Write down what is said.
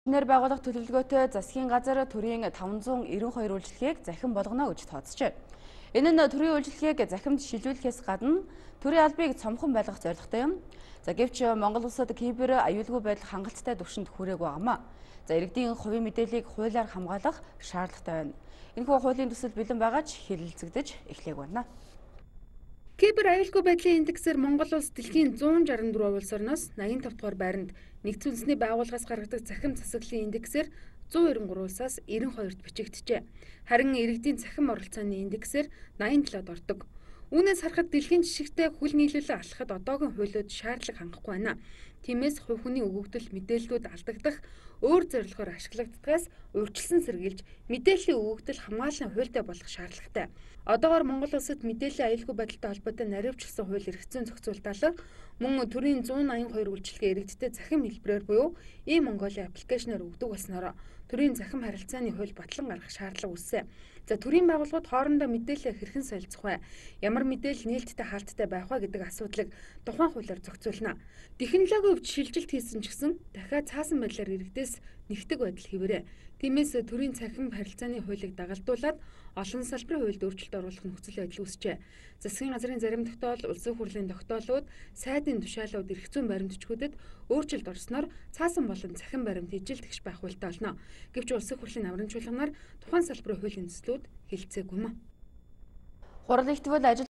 Нэр байгуулах төлөвлөгөөтэй засгийн газар төрийн 592 үйлчлэгийг захин болгоно гэж тооцжээ. Энэ нь төрийн үйлчлэгийг захимд шилжүүлэхээс гадна төрийн албыг цомхон байлгах зорилготой юм. Гэвч Монгол улсад кибер аюулгүй байдал хангалттай түвшинд хүрээгүй байнамаа. Иргэдийн хувийн мэдээллийг хуулиар хамгаалах шаардлагатай байна. Энэхүү хуулийн төсөл бэлэн байгаа ч хэлэлцэгдэж эхлэегүй байна. Кибер аюулгүй байдлын индексээр Монгол улс дэлхийн 164 улс орноос 85 дугаар байранд, нэгдсэн үндэсний байгууллагаас гаргадаг цахим засаглалын индексээр 193 улсаас 92-т бичигджээ. Харин иргэдийн цахим оролцооны индексээр 87-д ордог. Үүнээс харахад дэлхийн жишгтэй хүл нийлүүлэн алхахад одоогийн хуулиуд шаардлага хангахгүй байна. Тиймээс хувь хүний өгөгдөл мэдээллүүд алдагдах, өөр зорилгоор ашиглагддгаас урьдчилан сэргийлж мэдээллийн өгөгдөл хамгааллын хуультай болох шаардлагатай. Одоогоор Монгол улсад мэдээллийн аюулгүй байдалтай холбоотой наривчлсан хууль эрх зүйн зохицуулалт мөн төрийн 182 үйлчилгээ иргэдтэй захим хэлбэрээр буюу e-Mongolia аппликейшнээр өгдөг болсноор төрийн захим харилцааны хууль батлан гаргах шаардлага үүссэн. Төрийн байгууллагууд хоорондоо мэдээлэл хэрхэн солилцох вэ? Ямар мэдээлэл нээлттэй хаалттай байх вэ гэдэг асуудлыг тухайн хуулиар зохицуулна. Технологийн хувьд шилжилт хийсэн ч гэсэн дахиад цаасан байдлаар иргэдээс нэгтгэх байдал хэвээрээ. Тиймээс төрийн цахим харилцааны хуулийг дагалдуулаад олон салбарын хуульд өөрчлөлт оруулах нөхцөл байдал үүсчээ. Засгийн газрын зарим тогтоол, улсын хурлын тогтоолууд, сайдын тушаалууд эрх зүйн баримтчгүүдэд өөрчлөлт орсноор цаасан болон цахим баримт ижил тэгш байх хуультай болно. Гэвч улсын хурлын намрын чуулганаар тухайн салбарын хуулийн төслүүд хэлэлцээгүй юм. Хурал ихтвэл ажил